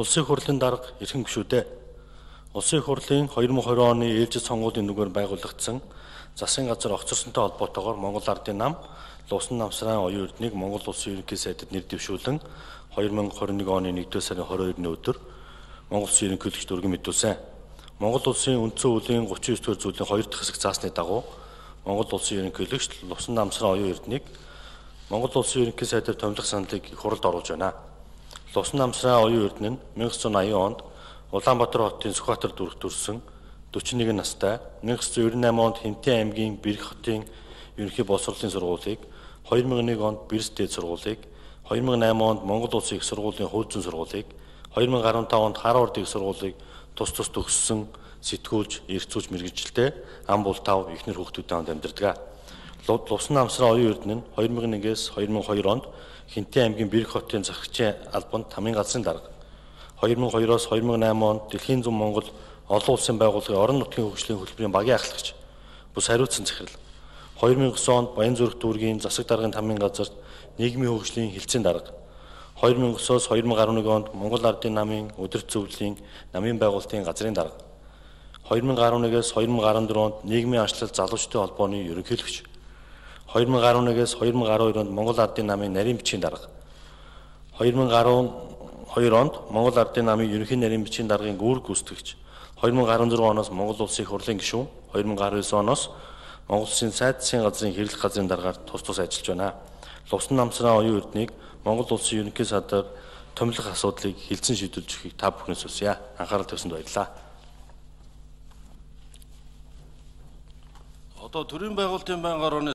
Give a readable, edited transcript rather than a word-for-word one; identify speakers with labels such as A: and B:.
A: Улсын хурлын дарга эрхэм гишүүдээ. Улсын хурлын 2020 оны ээлжид сонгуулийн нүгээр байгуулагдсан засгийн газар огцорсонтой холбоотойгоор Монгол Ардын нам Лувсан намсрын оюун эрднийг Монгол Улсын ерөнхий сайдад нэр дэвшүүлэн 2021 оны 1-р сарын 22-ны өдөр Монгол Улсын ерөнхийлөгчд өргөн мэдүүлсэн. Монгол Улсын үндсэн хуулийн 39-р зүйлийн 2 дахь хэсэг заасны дагуу Монгол Улсын ерөнхийлөгч Лувсан намсрын оюун эрднийг Монгол Улсын ерөнхий сайдаар томилох саналыг их хурлд оруулж байна. Лувсан намсрын оюун эрдэнэ нь 1980 онд Улаанбаатар хотын Сүхбаатар дүрэгт төрсэн 41 настай 1998 онд Хинтээ аймгийн Бэрх хотын ерөнхий боловсролын сургуулийг 2001 онд Бэрс дээд сургуулийг 2008 онд Монгол Улсын их сургуулийн хувь зүйн сургуулийг 2015 онд Харвард их сургуулийг тус төгссөн сэтгүүлч, эрхцүүлж мэргэжилтэй ам бол тав эхнэр хүүхдүүдтэй хамт амьдардаг. Лувсан намсрын оюун эрдэнэ нь 2001-ээс 2002 онд Хинтээ аймгийн Бэрх хотын засагчийн албанд тамийн газрын дарга. 2002-оос 2008 онд Дэлхийн зүүн Монгол олон улсын байгууллагын орон нутгийн хөгжлийн хөтөлбөрийн багийн ахлагч, бус хариуцсан захирал. 2009 онд Баянзүрх дүүргийн засаг даргын тамийн газарт нийгмийн хөгжлийн хилцээний дарга. 2009-оос 2011 онд Монгол Ардын намын удирдах зөвлөлийн намын байгуулалтын газрын дарга. 2011-ээс 2014 онд нийгмийн анчлал залуучдын холбооны ерөнхийлөгч. 2011-ээс 2012 онд Монгол Ардын намын нарийн бичгийн дарга. 2012 онд Монгол Ардын намын ерөнхий нарийн бичгийн даргын гүүрэг гүйцэтгэгч. 2016 оноос Монгол Улсын их хурлын гишүүн, 2019 оноос Монгол Улсын сайд засгийн газрын хэрэглэх газрын даргаар тус ажиллаж байна. Лувсан намсрын оюун эрднийг Монгол Улсын ерөнхий сайдаар томилох асуудлыг хилцэн шийдүүлж өгөхийг та бүхнээс хүсье. Анхаарал тавьсанд баярлалаа.
B: Одоо төрийн байгуулалтын байнгын орооны